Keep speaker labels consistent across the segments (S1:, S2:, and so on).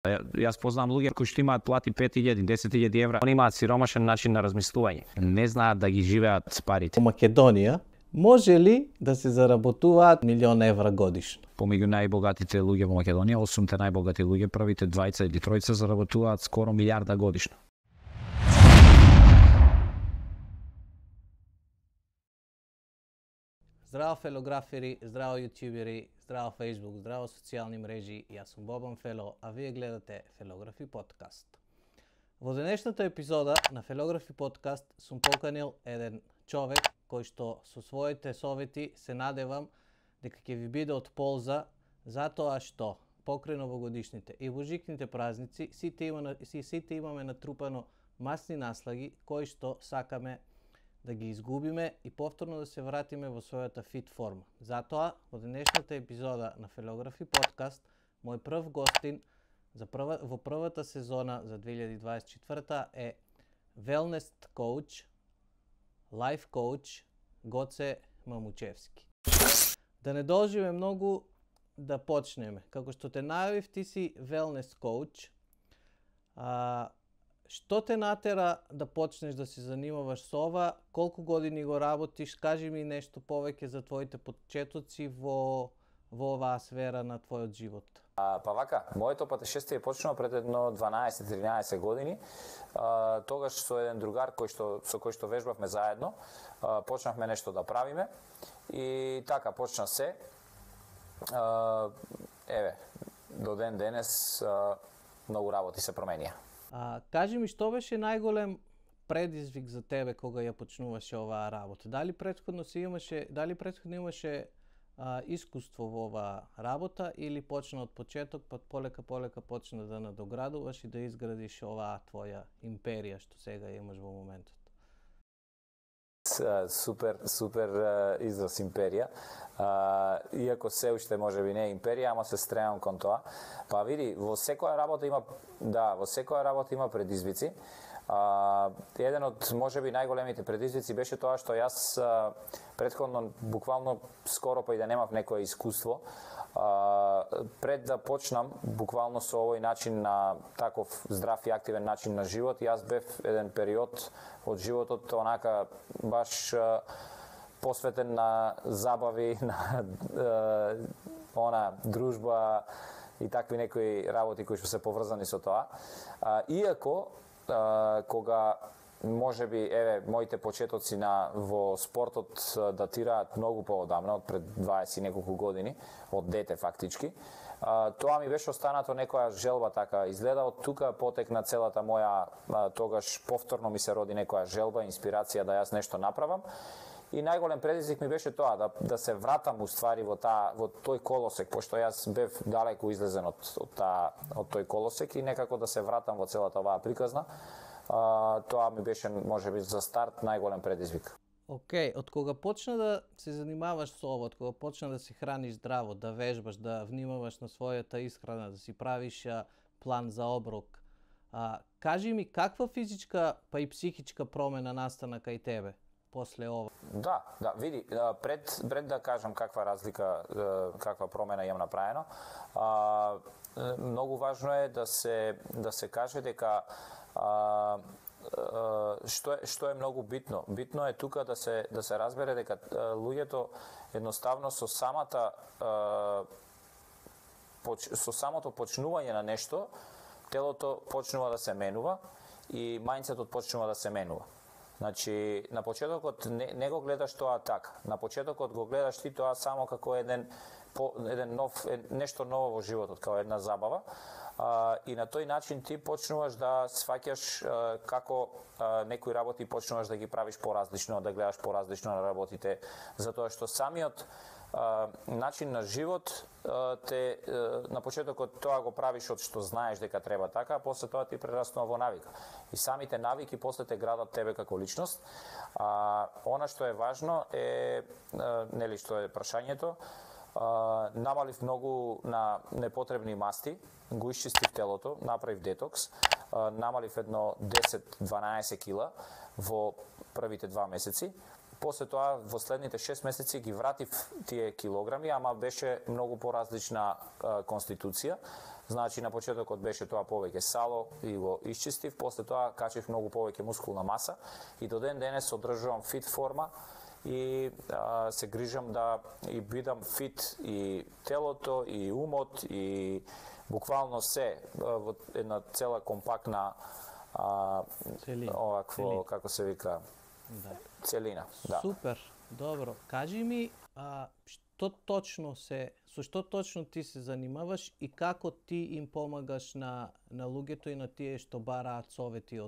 S1: Јас познавам луѓе кои што имаат плати 5.000, 10.000 евра, они имаат сиромашен начин на размислување. Не знаат да ги живеат с парите.
S2: Во Македонија може ли да се заработуваат 1.000.000 евра годишно?
S1: Помеѓу најбогатите луѓе во Македонија, 8 најбогати луѓе, првите 20 или 30 заработуваат скоро 1 милијарда годишно.
S2: Здраво фелографери, здраво јутјубери, здраво Facebook, здраво социјални мрежи. Јас сум Бобан Фело, а вие гледате Фелографи подкаст. Во денешната епизода на Фелографи подкаст сум поканил еден човек кој што со своите совети се надевам дека ќе ви биде од полза, затоа што покрај новогодишните и божикните празници сите имаме натрупано масни наслаги кои што сакаме да ги изгубиме и повторно да се вратиме во својата фит форма. Затоа, во денешната епизода на Фелографи подкаст, мој прв гостин во првата сезона за 2024 е wellness коуч, life коуч Гоце Мамучевски. Да не должиме многу, да почнеме. Како што те најавив, ти си wellness коуч. Што те натера да почнеш да се занимаваш со ова? Колку години го работиш? Кажи ми нешто повеќе за твоите почетоци во оваа сфера на твојот живот.
S3: Па вака, моето патешествие почнува пред едно 12-13 години. Тогаш со еден другар со кој што вежбавме заедно, почнавме нешто да правиме и така почна се. До ден денес многу работи се променија.
S2: Кажи ми, што беше најголем предизвик за тебе кога ја почнуваше оваа работа? Дали претходно имаше искуство во оваа работа или почна од почеток, па полека почна да надоградуваш и да изградиш оваа твоја империја што сега имаш во моментот?
S3: Супер израз империја. Иако се уште можеби не е империја, ама се стремам кон тоа. Па види, во секоја работа има предизвици. Еден од можеби најголемите предизвици беше тоа што јас претходно буквално скоро па и да немав некое искуство, пред да почнам буквално со овој начин на таков здрав и активен начин на живот, јас бев еден период од животот онака баш посветен на забави, на дружба и такви некои работи кои што се поврзани со тоа. Иако кога можеби моите почетоци во спортот датираат многу поодамна, од пред 20 и неколку години, од дете фактички. Тоа ми беше останато некоја желба така. Изгледа од тука потекна целата моја, тогаш повторно ми се роди некоја желба, инспирација да јас нешто направам. И најголем предизвик ми беше тоа, да се вратам уствари во тој колосек, пошто јас бев далеку излезен од тој колосек и некако да се вратам во целата оваа приказна. Тоа ми беше, можеби, за старт најголем предизвик.
S2: Океј, од кога почна да се занимаваш со ова, од кога почна да се храниш здраво, да вежбаш, да внимаваш на својата исхрана, да си правиш план за оброк, кажи ми каква физичка па и психичка промена настана кај тебе после ова?
S3: Да, види, пред да кажам каква разлика, каква промена имам направено, многу важно е да се каже дека што е многу битно. Битно е тука да се разбере дека луѓето едноставно со самото почнување на нешто, телото почнува да се менува и мајндсетот почнува да се менува. Значи, на почетокот не го гледаш тоа така. На почетокот го гледаш ти тоа само како нешто ново во животот, како една забава. И на тој начин ти почнуваш да сваќаш како некои работи почнуваш да ги правиш поразлично, да гледаш поразлично на работите, затоа што самиот начин на живот на почетокот тоа го правиш од што знаеш дека треба така, а после тоа ти прераснува во навика. И самите навики после те градат тебе како личност. Она што е важно е, што е прашањето, намалив многу на непотребни масти, го исчистив телото, направив детокс, намалив едно 10-12 кила во првите 2 месеци. после тоа во следните 6 месеци ги вратив тие килограми, ама беше многу поразлична конституција. Значи на почетокот беше тоа повеќе сало и го исчистив, после тоа качив многу повеќе мускулна маса и до ден денес одржувам фит форма и се грижам да и бидам фит и телото и умот и буквално се во една цела компактна овакво како се вика целина. Да.
S2: Супер, добро. Кажи ми со што точно ти се занимаваш и како ти им помагаш на луѓето и на тие што бараат совети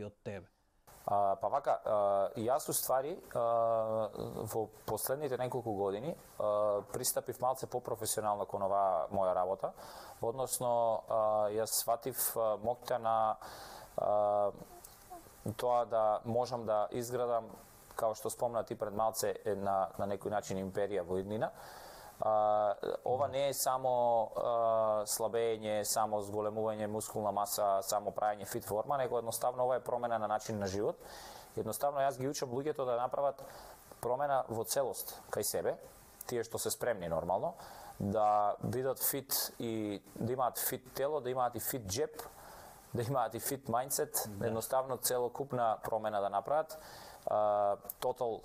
S2: од тебе?
S3: Па вака, јас уствари во последните неколку години пристапив малце по-професионално кон оваа моја работа, односно јас сватив моќта на тоа да можам да изградам, као што спомна ти пред малце, на некој начин империја во иднина. Ова не е само слабење, само зголемување мускулна маса, само правење фит форма, него едноставно ова е промена на начин на живот. Едноставно јас ги учам луѓето да направат промена во целост кај себе, тие што се спремни нормално, да бидат фит и да имаат фит тело, да имаат и фит джеб, да имаат и фит мајндсет, едноставно целокупна промена да направат, total,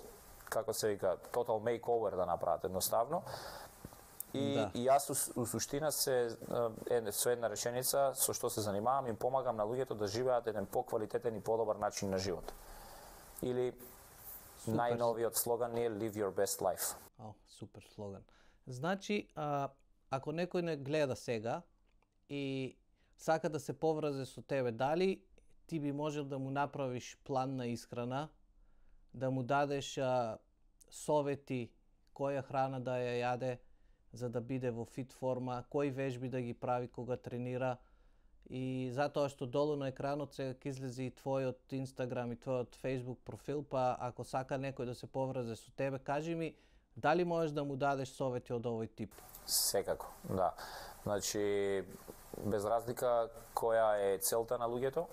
S3: како се вика, total makeover да направат едноставно. И јас у суштина со една реченица со што се занимавам, им помагам на луѓето да живеат еден поквалитетен и подобар начин на живот. Или најновиот слоган е Live your best life.
S2: Супер слоган. Значи, ако некој не гледа сега и сака да се поврзе со тебе, дали ти би можел да му направиш план на исхрана, да му дадеш совети која храна да ја јаде за да биде во фит форма, кои вежби да ги прави кога тренира, и затоа што долу на екранот сега ќе излезе и твојот Инстаграм и твојот Фејсбук профил, па ако сака некој да се поврзе со тебе, кажи ми дали можеш да му дадеш совети од овој тип?
S3: Секако, да. Значи, без разлика која е целта на луѓето,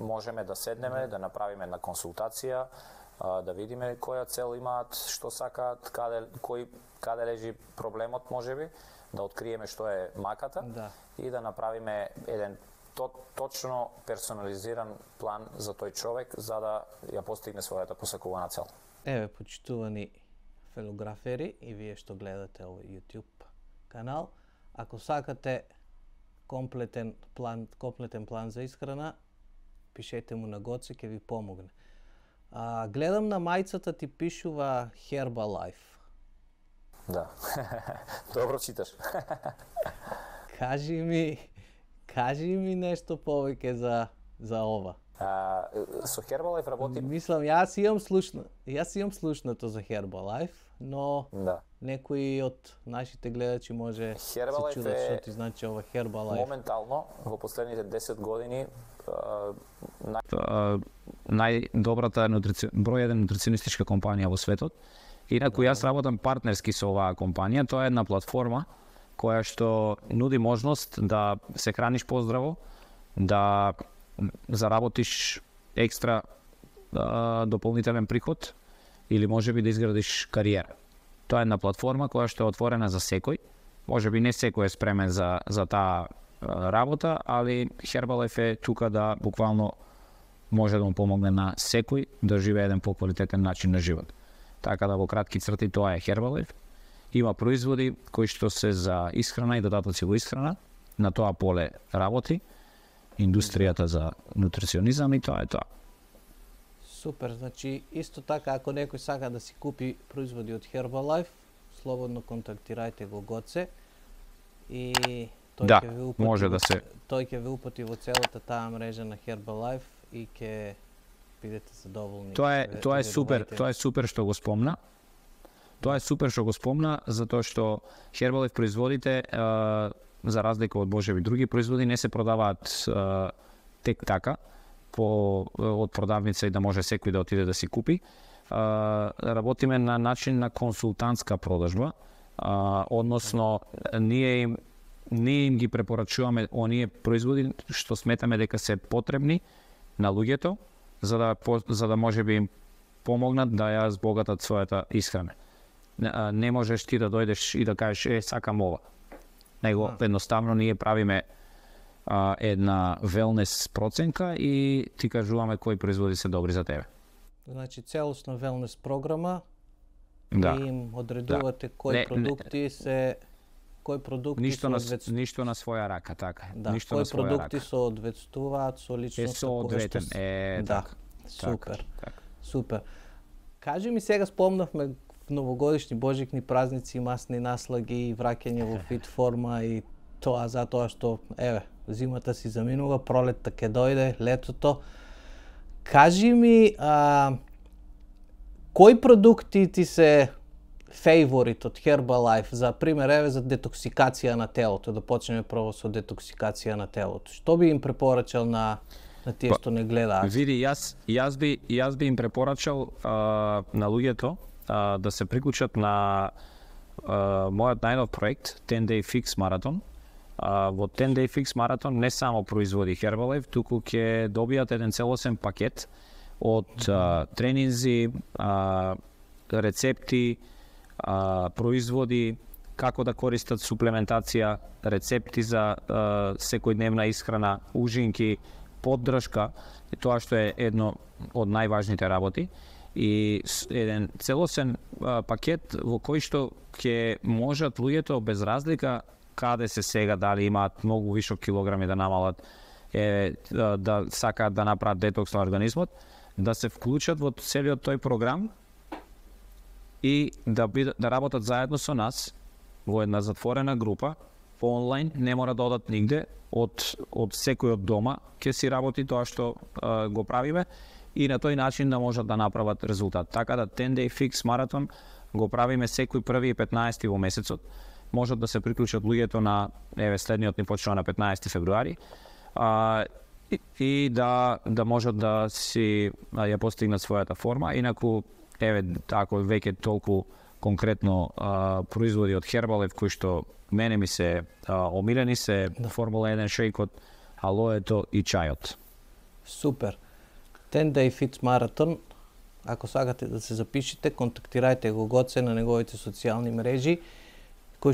S3: можеме да седнеме, да направиме една консултација, да видиме која цел имаат, што сакаат, каде лежи проблемот можеби, да откриеме што е маката и да направиме еден точно персонализиран план за тој човек за да ја постигне својата посакувана цел.
S2: Еве, почитувани фелографери и вие што гледате овој YouTube канал, ако сакате комплетен план за исхрана, пишете му на Гоце, ќе ви помогне. Гледам на мајцата ти пишува Herbalife.
S3: Да. Добро читаш.
S2: Кажи ми нешто повеќе за ова.
S3: Со Herbalife работим.
S2: Мислам, јас имам слушнато за Herbalife, но некои од нашите гледачи може се чудат што ти значи ова Herbalife.
S3: Моментално во последните 10 години
S1: најдобрата број еден нутриционистичка компанија во светот. Инаку јас работам партнерски со оваа компанија. Тоа е една платформа која што нуди можност да се храниш поздраво, да заработиш екстра дополнителен приход или можеби да изградиш кариера. Тоа е една платформа која што е отворена за секој. Можеби не секој е спремен за таа работа, али Herbalife е тука да буквално може да му помогне на секој да живее еден поквалитетен начин на живот. Така да во кратки црти тоа е Herbalife. Има производи кои што се за исхрана и додатоци во исхрана, на тоа поле работи индустријата за нутриционизам и тоа е тоа.
S2: Супер, значи исто така ако некој сака да си купи производи од Herbalife, слободно контактирајте го Гоце и тој ќе ви упати во целата таа мрежа на Herbalife и ќе бидете задоволни.
S1: Тоа е супер што го спомна. Тоа е супер што го спомна, затоа што Herbalife производите, за разлика од можеби други производи, не се продаваат тек така од продавница и да може секој да отиде да си купи. Работиме на начин на консултантска продажба, односно ние им ги препорачуваме оние производи што сметаме дека се потребни на луѓето, за да можеби им помогнат да ја збогатат својата исхрана. Не можеш ти да дојдеш и да кажеш сакам ова. Него едноставно ние правиме една велнес проценка и ти кажуваме кои производи се добри за тебе.
S2: Значи целосна велнес програма
S1: Да.
S2: и им одредувате кои продукти се
S1: Ништо на своја рака, така.
S2: Да,
S1: ништо
S2: кои
S1: на своја
S2: продукти
S1: рака.
S2: се одветствуваат со личноста
S1: Со одветен.
S2: Да,
S1: така.
S2: супер.
S1: Така.
S2: Супер. Кажи ми, сега спомнавме новогодишни, божикни празници, масни наслаги, враќање во фит форма и тоа затоа што зимата си заминува, пролетта ќе дојде, летото. Кажи ми, кои продукти ти се фейворит од Herbalife, за пример, за детоксикација на телото, да почнеме прво со детоксикација на телото. Што би им препорачал на тие што не гледаат?
S1: Види, јас би им препорачал на луѓето да се приклучат на мојот најнов проект 10 Day Fix Marathon. Во 10 Day Fix Marathon не само производи Herbalife, туку ќе добијат еден целосен пакет од тренинзи, рецепти, производи, како да користат суплементација, рецепти за секојдневна исхрана, ужинки, поддршка, тоа што е едно од најважните работи, и еден целосен пакет во кој што ќе можат луѓето без разлика каде се сега, дали имаат многу вишок килограми да намалат, да сакаат да направат детокс на организмот, да се вклучат во целиот тој програм и да работат заедно со нас во една затворена група, по онлайн, не мора да одат нигде, од секој од дома ќе си работи тоа што го правиме и на тој начин да можат да направат резултат. Така да 10 Day Fix Marathon го правиме секој 1 и 15 во месецот. Можат да се приклучат луѓето на следниот ни почнува на 15 февруари и да можат да си ја постигнат својата форма. Инаку ако веќе толку конкретно производи од Herbalife кои што мене ми се омилени се Формула 1 шејкот, алоето и чајот.
S2: Супер. 10 Day Fix Marathon, ако сакате да се запишете, контактирајте го Гоце на неговите социјални мрежи, кој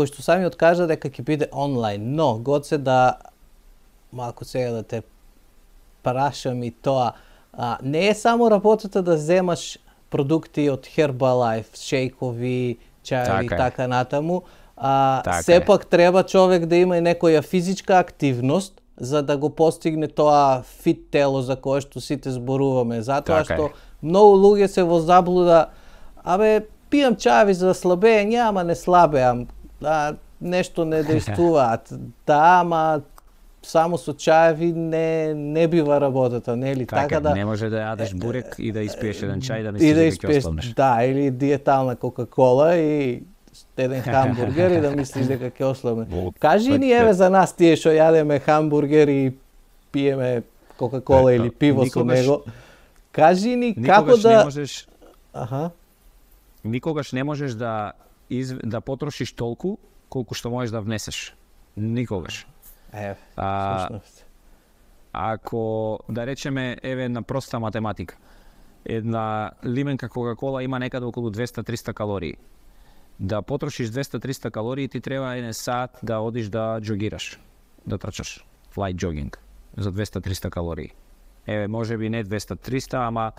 S2: што самиот кажа дека ќе биде онлайн, но Гоце малку сега да те прашам и тоа, не е само работата да земаш продукти од Herbalife, шејкови, чајови и така натаму, сепак треба човек да има и некоја физичка активност за да го постигне тоа фит тело за кое што сите зборуваме. Затоа што многу луѓе се во заблуда, пијам чајови за слабење, ама не слабеам, нешто не действуваат. Ама само со чајови не бива работата, нели?
S1: Така да не може да јадеш бурек и да испиеш еден чај да мислиш дека ќе ослабнеш.
S2: Да, или диетална Кока-кола и еден хамбургер и да мислиш дека ќе ослабне. Кажи ни за нас тие што јадеме хамбургер и пиеме Кока-кола или пиво со него. Кажи ни како да
S1: никогаш не можеш да потрошиш толку колку што можеш да внесеш. Никогаш. Ако да речеме една проста математика. Една лименка Кока-кола има некаде околу 200-300 калории. Да потрошиш 200-300 калории ти треба еден сат да одиш да џогираш, да трчаш, light jogging за 200-300 калории. Може би не 200-300, ама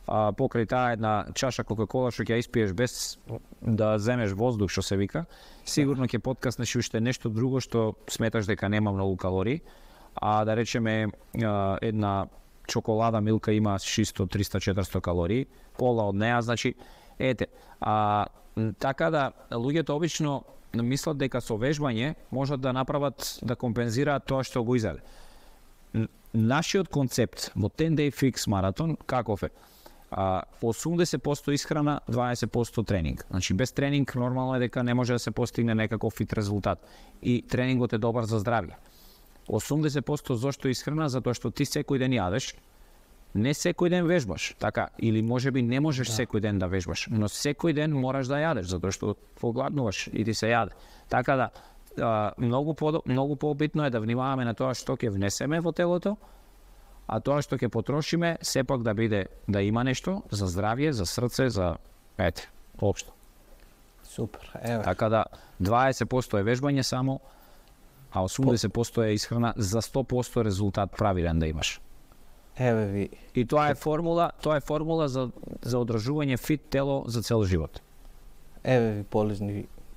S1: покрај таа една чаша Кока-кола што ќе испиеш без да земеш воздух, што се вика, сигурно ќе подкаснеш уште нешто друго што сметаш дека нема многу калории, а да речеме една чоколада милка има 600, 300, 400 калории, пола од неа, значи, така да луѓето обично мислат дека со вежбање можат да направат, да компензираат тоа што го изеде. Нашиот концепт во 10 Day Fix Marathon каков е? 80% исхрана, 20% тренинг. Значи без тренинг нормално е дека не може да се постигне некаков фит резултат. И тренингот е добар за здравје. 80% зошто исхрана? Затоа што ти секој ден јадеш, не секој ден вежбаш, така, или можеби не можеш секој ден да вежбаш, но секој ден мораш да јадеш, затоа што погладнуваш и ти се јаде. Така да, многу пообитно е да внимаваме на тоа што ќе внесеме во телото, а тоа што ќе потрошиме сепак да биде да има нешто за здравје, за срце, за општо.
S2: Супер, еве.
S1: Така да 20% е вежбање само, а 80% е исхрана за 100% резултат правилен да имаш.
S2: Еве ви.
S1: И тоа е формула за одржување фит тело за цел живот.
S2: Еве ви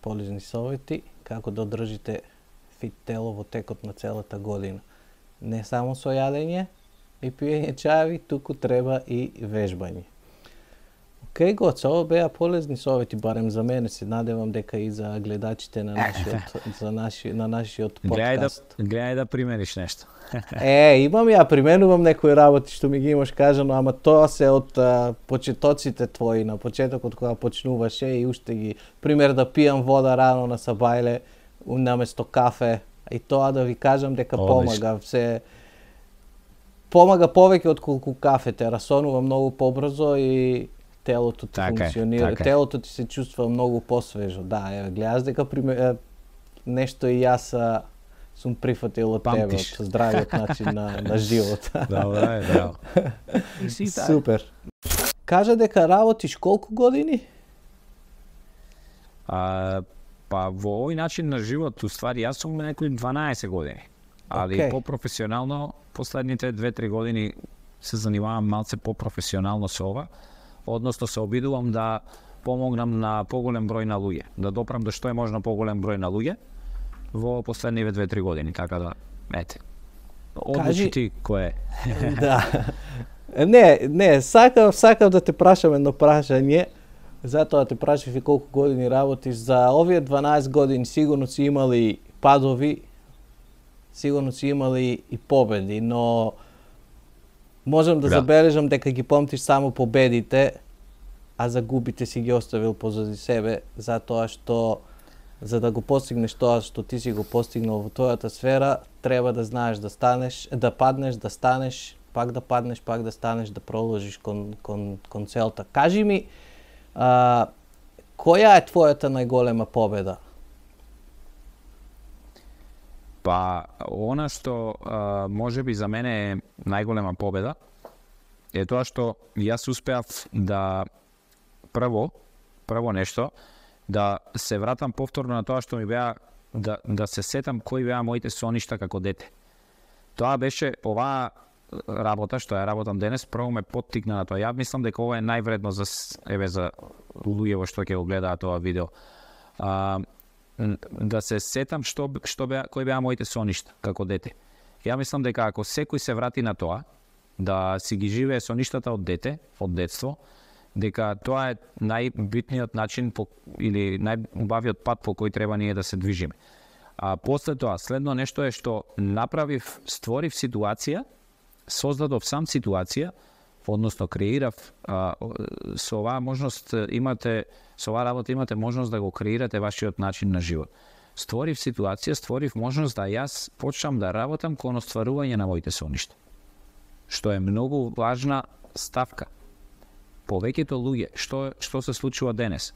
S2: полезни совети како да одржите фит тело во текот на целата година. Не само со јадење и пиење чаеви, туку треба и вежбање. Океј, Гоце, ова беа полезни совети, барем за мене, се надевам дека и за гледачите на нашиот подкаст.
S1: Гледај да примениш нешто.
S2: Имам ја, применувам некои работи што ми ги имаш кажано, ама тоа се од почетоците твои, на почетокот кога почнуваше и уште ги, пример да пијам вода рано на сабајле, наместо кафе, и тоа да ви кажам дека помага, помага повеќе отколку кафете, расонува многу побрзо и телото ти функционира, телото ти се чувства многу посвежо. Да, еве, гледаш дека нешто и јас сум прифатил од тебе, од здравиот начин на живот.
S1: Добро.
S2: Супер. Кажа дека работиш колку години?
S1: Па во овој начин на живот, уствари, јас сум некои 12 години. Али по-професионално, последните 2-3 години се занимавам малце по-професионално со ова. Односно се обидувам да помогнам на поголем број на луѓе, да допрам до што е можно поголем број на луѓе во последниве 2-3 години, така да, одлучи ти кој е.
S2: Да. Не, сакав да те прашам едно прашање, затоа те прашав и колку години работиш. За овие 12 години сигурно си имали падови, сигурно си имали и победи, но можам да забележам дека ги помтиш само победите, а загубите си ги оставил позади себе, затоа што за да го постигнеш тоа што ти си го постигнал во твојата сфера, треба да знаеш да станеш, да паднеш, да станеш, пак да паднеш, пак да станеш, да продолжиш кон целта. Кажи ми, која е твојата најголема победа?
S1: Па, она што можеби за мене е најголема победа е тоа што јас успеав да прво нешто, да се вратам повторно на тоа што ми беа, да се сетам кои беа моите соништа како дете. Тоа беше оваа работа што ја работам денес, прво ме поттикна на тоа. Ја мислам дека ова е највредно за луѓе што ќе го гледаат тоа видео. Да се сетам кои беа моите соништа како дете. Ја мислам дека ако секој се врати на тоа, да си ги живее соништата од дете, од детство, дека тоа е најбитниот начин или најубавиот пат по кој треба ние да се движиме. А после тоа, следно нешто е што створив ситуација, создадов сам ситуација, односно креирав, со оваа можност со оваа работа имате можност да го креирате вашиот начин на живот. Створив ситуација, створив можност да јас почнам да работам кон остварување на моите соништа. Што е многу важна ставка. Повеќето луѓе, што се случува денес?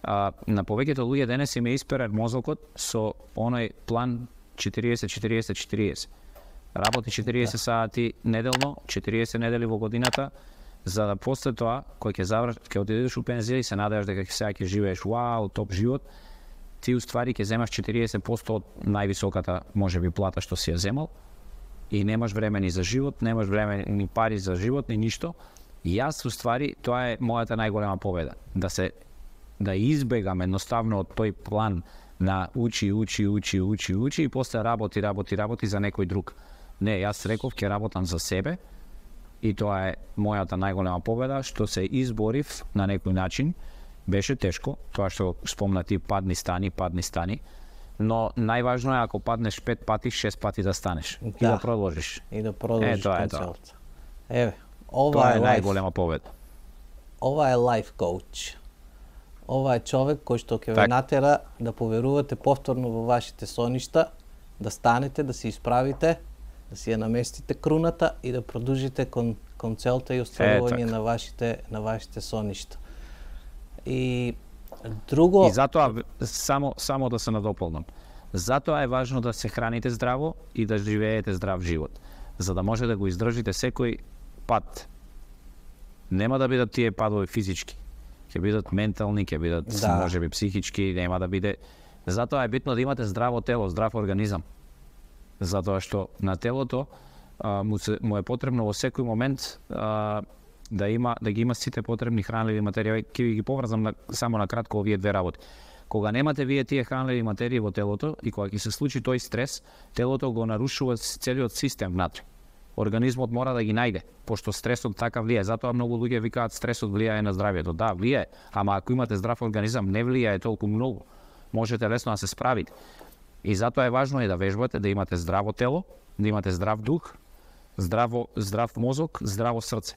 S1: На повеќето луѓе денес им е исперен мозокот со оној план 40-40-40. Работи 40 сати неделно, 40 недели во годината, за да после тоа, кој ќе одидеш у пензија и се надеваш дека сега ќе живееш топ живот, ти уствари ќе земаш 40% од највисоката можеби плата што си ја земал и немаш време ни за живот, немаш време ни пари за живот, ни ништо. И јас уствари тоа е мојата најголема победа, да избегам едноставно од тој план на учи и после работи за некој друг. Не, јас реков ќе работам за себе и тоа е мојата најголема победа, што се изборив на некој начин. Беше тешко, тоа што спомна ти, падни стани, но најважно е ако паднеш 5 пати, 6 пати да станеш и да продолжиш.
S2: И да продолжиш кон целта. Еве,
S1: тоа е најголема победа.
S2: Ова е лайф коуч. Ова е човек кој што ќе ве натера да поверувате повторно во вашите соништа, да станете, да се исправите, да си ја наместите круната и да продолжите кон целта и остварување на вашите соништа. И друго...
S1: И затоа, само да се надополнам, затоа е важно да се храните здраво и да живеете здрав живот. за да може да го издржите секој пат. Нема да бидат тие падови физички, ќе бидат ментални, ќе бидат можеби психички, нема да биде. Затоа е битно да имате здраво тело, здрав организам. Затоа што на телото му е потребно во секој момент да ги има сите потребни хранливи материи. Ќе ги поврзам само на кратко овие две работи. Кога немате вие тие хранливи материи во телото и кога ќе се случи тој стрес, телото го нарушува целиот систем внатре. Организмот мора да ги најде, пошто стресот така влијае. Затоа многу луѓе викаат стресот влијае на здравјето. Да, влијае, ама ако имате здрав организам, не влијае толку многу. Можете лесно да се справите. И затоа е важно да вежбате, да имате здраво тело, да имате здрав дух, здрав мозок, здраво срце.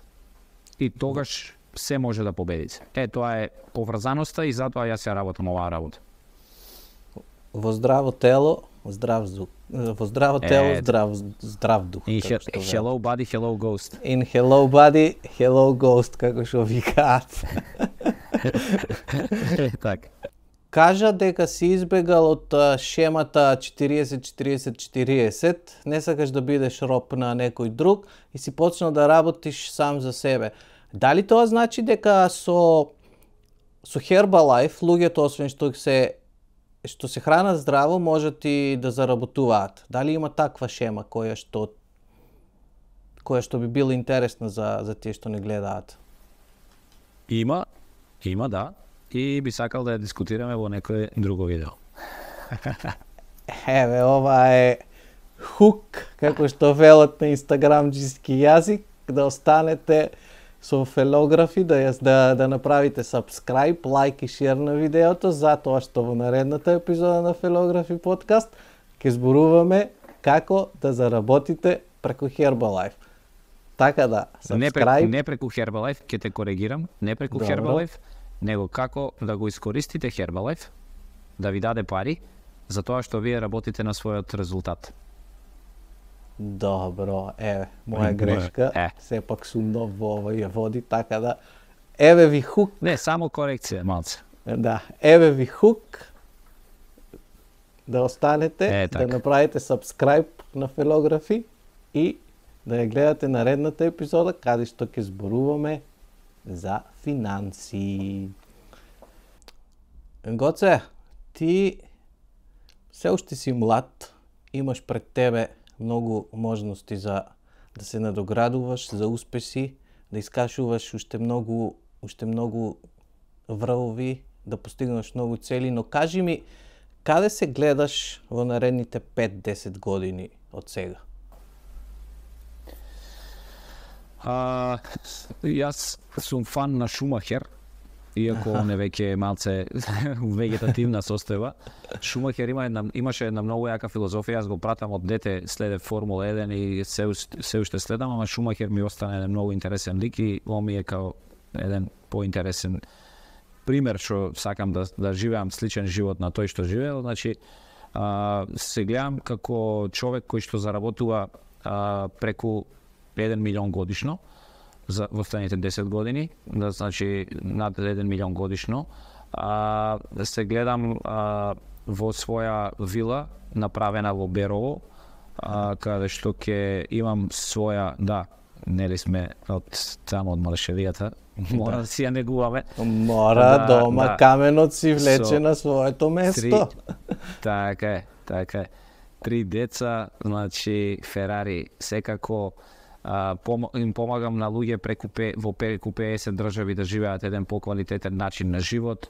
S1: И тогаш се може да победите. Тоа е поврзаноста и затоа јас ја работам оваа работа.
S2: Во здраво тело, здрав дух. Во здраво тело, здрав дух.
S1: Hello body, hello ghost.
S2: In hello body, hello ghost, како што викаат.
S1: Така.
S2: Кажа дека си избегал од шемата 40-40-40, не сакаш да бидеш роб на некој друг и си почнал да работиш сам за себе. Дали тоа значи дека со Herbalife луѓето освен што се хранат здраво можат и да заработуваат? Дали има таква шема која што би била интересна за тие што не гледаат?
S1: Има да. И би сакал да ја дискутираме во некој друго видео.
S2: Еве, ова е хук, како што велат на инстаграмџиски јазик, да останете со Фелографи, да направите subscribe, лайк и шер на видеото, затоа што во наредната епизода на Фелографи подкаст ќе зборуваме како да заработите преку Herbalife. Така да, subscribe.
S1: Не преку Herbalife, ќе те коригирам, не преку Herbalife, него како да го искористите Herbalife, да ви даде пари, за тоа што вие работите на својот резултат.
S2: Добро, моја грешка, сепак сум нов во овие води, така да, еве ви хук.
S1: Не, само корекција, малце.
S2: Да, еве ви хук, да останете, да направите subscribe на Фелографи и да ја гледате наредната епизода, каде што ќе зборуваме за финанси. Гоце, ти се уште си млад, имаш пред тебе многу можности за да се надоградуваш, за успеси, да искашуваш уште многу врвови, да постигнеш многу цели, но кажи ми, каде се гледаш во наредните 5-10 години од сега?
S1: Јас сум фан на Шумахер, иако он е веќе малце вегетативна состојба. Шумахер имаше една многу јака филозофија, јас го пратам од дете, следе Формула 1 и се уште следам, ама Шумахер ми остана еден многу интересен лик и он ми е као еден поинтересен пример што сакам да живеам сличен живот на тој што живеел. Значи, се гледам како човек кој што заработува преку 1 милион годишно во следните 10 години, значи над 1 милион годишно. Се гледам во своја вила направена во Берово, каде што ќе имам своја, нели сме од тамо од Малешевијата, мора да си ја негуваме.
S2: Мора, дома каменот си влече на своето место.
S1: Така е. 3 деца, значи Ферари, секако им помагам на луѓе во преку 50 држави да живеат еден поквалитетен начин на живот.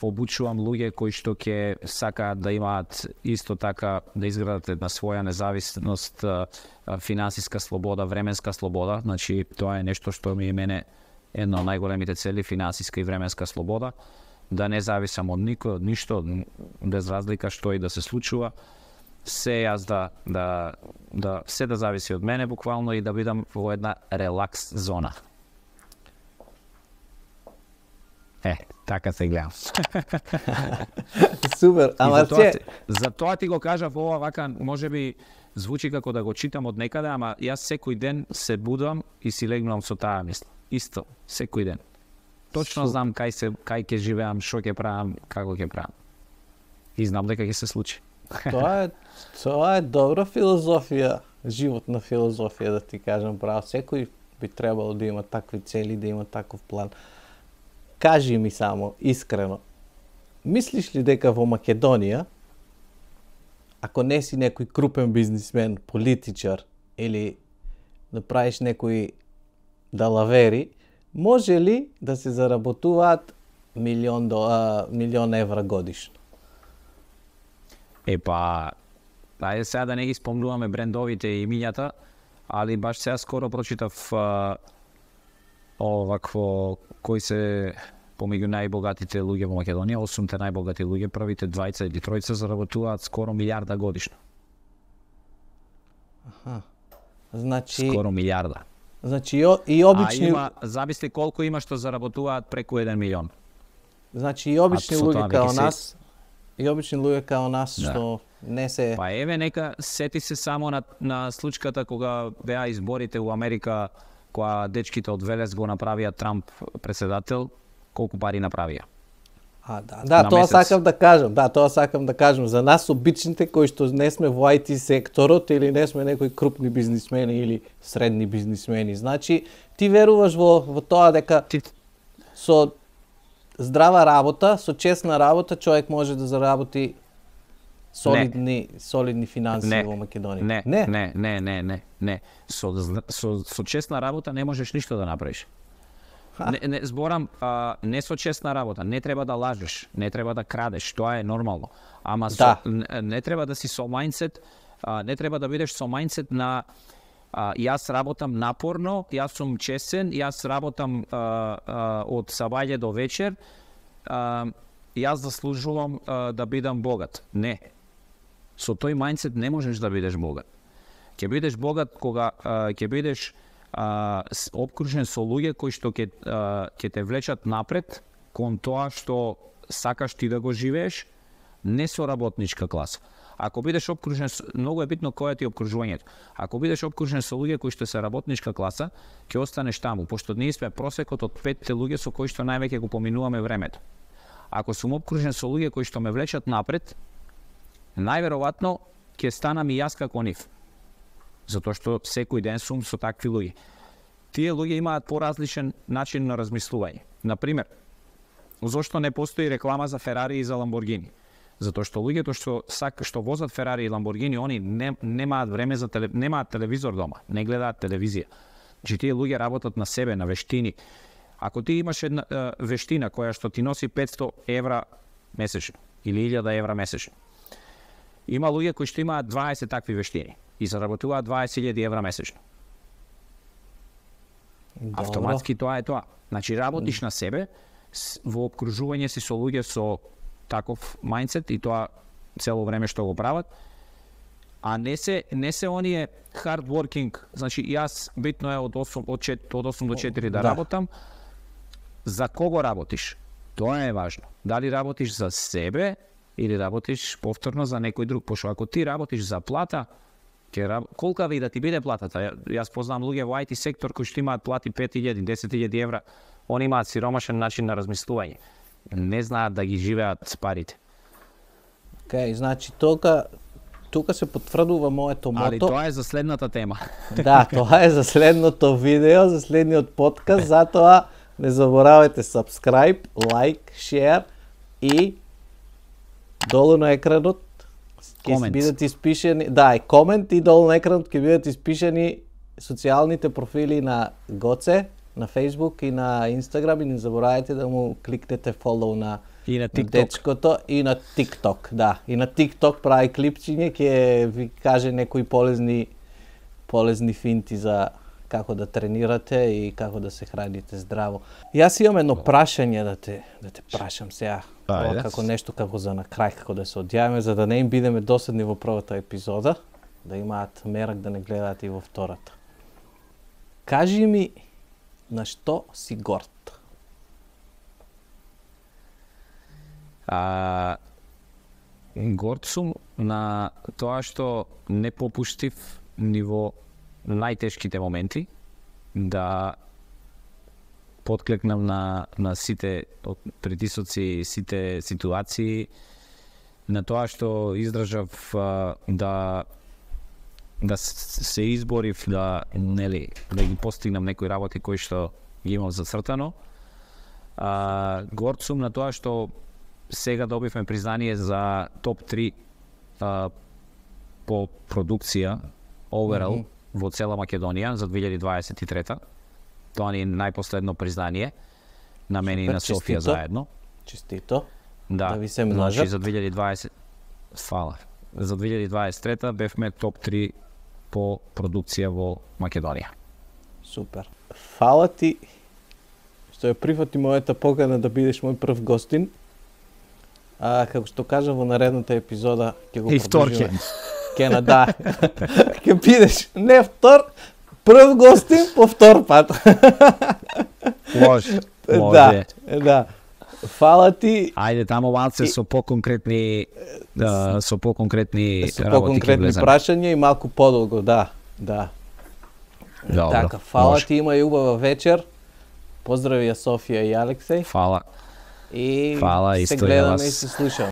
S1: Обучувам луѓе кои што ќе сакаат да имаат исто така да изградат една своја независност, финансиска слобода, временска слобода. Значи тоа е нешто што ми е мене една од најголемите цели, финансиска и временска слобода, да не зависам од никој, од ништо, без разлика што и да се случува. Се јас се да зависи од мене буквално и да бидам во една релакс зона. Така се гледам.
S2: Супер, ама
S1: за тоа ти го кажав, ова вака можеби звучи како да го читам од некаде, ама јас секој ден се будам и си легнувам со таа мисла. Исто, секој ден. Точно знам кај ќе живеам, што ќе правам, како ќе правам. И знам дека ќе се случи.
S2: Тоа е добра филозофија, животна филозофија, да ти кажам право. Секој би требало да има такви цели, да има таков план. Кажи ми само, искрено, мислиш ли дека во Македонија, ако не си некој крупен бизнисмен, политичар или да правиш некои далавери, може ли да се заработуваат милион евра годишно?
S1: Епа, ајде сега да не ги спомнуваме брендовите и имињата, али баш сега скоро прочитав овакво кои се помеѓу најбогатите луѓе во Македонија, 8 најбогати луѓе, првите 20 или 30 заработуваат скоро милиарда годишно.
S2: Аха. Значи
S1: Скоро милиарда.
S2: Значи и обични
S1: зависи колку има што заработуваат преку 1 милион.
S2: Значи и обични
S1: со тоа
S2: луѓе као
S1: веќе
S2: нас, и обични луѓе као нас што не се
S1: Па еве нека сети се само на случката кога беа изборите у Америка, кога дечките од Велес го направија Трамп председател, колку пари направија.
S2: Да, тоа сакам да кажам. Да, тоа сакам да кажам за нас обичните кои што не сме во IT секторот или не сме некои крупни бизнисмени или средни бизнисмени. Значи, ти веруваш во тоа дека со здрава работа, со честна работа човек може да заработи солидни финанси во Македонија.
S1: Не. Со честна работа не можеш ништо да направиш. Не зборам не со честна работа, не треба да лажеш, не треба да крадеш, тоа е нормално. Ама не треба да си со мајндсет, не треба да бидеш со мајндсет на јас работам напорно, јас сум честен, јас работам од сабајле до вечер, јас заслужувам да бидам богат. Не. Со тој мајндсет не можеш да бидеш богат. Ќе бидеш богат кога ќе бидеш обкружен со луѓе кои што ќе те влечат напред кон тоа што сакаш ти да го живееш, не со работничка класа. Ако бидеш обкружен, многу е битно кој е ти обкружувањето. Ако бидеш обкружен со луѓе кои што се работничка класа, ќе останеш таму, пошто ние сме просекот од 5 луѓе со кои што највеќе го поминуваме времето. Ако сум обкружен со луѓе кои што ме влечат напред, најверојатно ќе станам и јас како нив. Затоа што секој ден сум со такви луѓе. Тие луѓе имаат поразличен начин на размислување. Например, зошто не постои реклама за Ферари и за Ламборгини? Затоа што луѓето што возат Ферари и Ламборгини, они немаат време за немаат телевизор дома, не гледаат телевизија. Значи тие луѓе работат на себе, на вештини. Ако ти имаш една вештина која што ти носи 500 евра месечно или 1000 евра месечно, има луѓе кои што имаат 20 такви вештини и заработуваат 20.000 евра месечно.
S2: Добро.
S1: Автоматски тоа е тоа. Значи работиш на себе во обкружување си со луѓе со таков мајндсет и тоа цело време што го прават, а не се оние hard working, значи јас битно е од 8 до 4 да работам. За кого работиш? Тоа е важно. Дали работиш за себе или работиш повторно за некој друг, пошто ако ти работиш за плата, колка ви да ти биде платата? Јас познам луѓе во IT сектор кои што имаат плати 5.000, 10.000 евра, они имаат сиромашен начин на размислување. Не знаат да ги живеат с парите.
S2: Океј, значи тука се потврдува моето мото.
S1: Али тоа е за следната тема.
S2: Да, тоа е за следното видео, за следниот подкаст, затоа не заборавајте subscribe, like, share и долу на екранот ќе бидат испишени, и комент, и долу на екранот ќе бидат испишени социјалните профили на Гоце, на Facebook и на Instagram, и не заборавајте да му кликнете follow на дечкото и на TikTok. Да, и на TikTok прави клипчиња, ќе ви каже некои полезни финти за како да тренирате и како да се храните здраво. Јас имам едно прашање да те прашам сега, како нешто како за на крај, како да се одјавиме, за да не им бидеме досадни во првата епизода, да имаат мерак да не гледаат и во втората. Кажи ми на што си горд?
S1: Горд сум на тоа што не попуштив ни во најтешките моменти, да подклекнам на сите притисоци, сите ситуации, на тоа што издржав да да се изборив да ги постигнам некои работи кои што ги имам зацртано. Горд сум на тоа што сега добивме признание за топ 3 по продукција overall во цела Македонија за 2023. Тоа ни е најпоследно признание на мене и на Софија заедно.
S2: Честито.
S1: Да
S2: ви се множат.
S1: Значи за 2020 фала. За 2023 бевме топ 3 по продукција во Македонија.
S2: Супер. Фала ти што ја прифати мојата покана да бидеш мој прв гостин. Како што кажа во наредната епизода, ќе го продолжиме. Да. Ќе бидеш не втор, прв гостин по втор пат.
S1: Може.
S2: Да. Фала ти.
S1: Ајде таму малце со поконкретни работи
S2: прашања и малку подолго, да.
S1: Добро,
S2: Така, фала
S1: може.
S2: ти, има и убава вечер. Поздрави ја Софија и Алексеј.
S1: Фала.
S2: И
S1: Фала,
S2: се
S1: исто и
S2: гледаме
S1: вас.
S2: и се слушаме.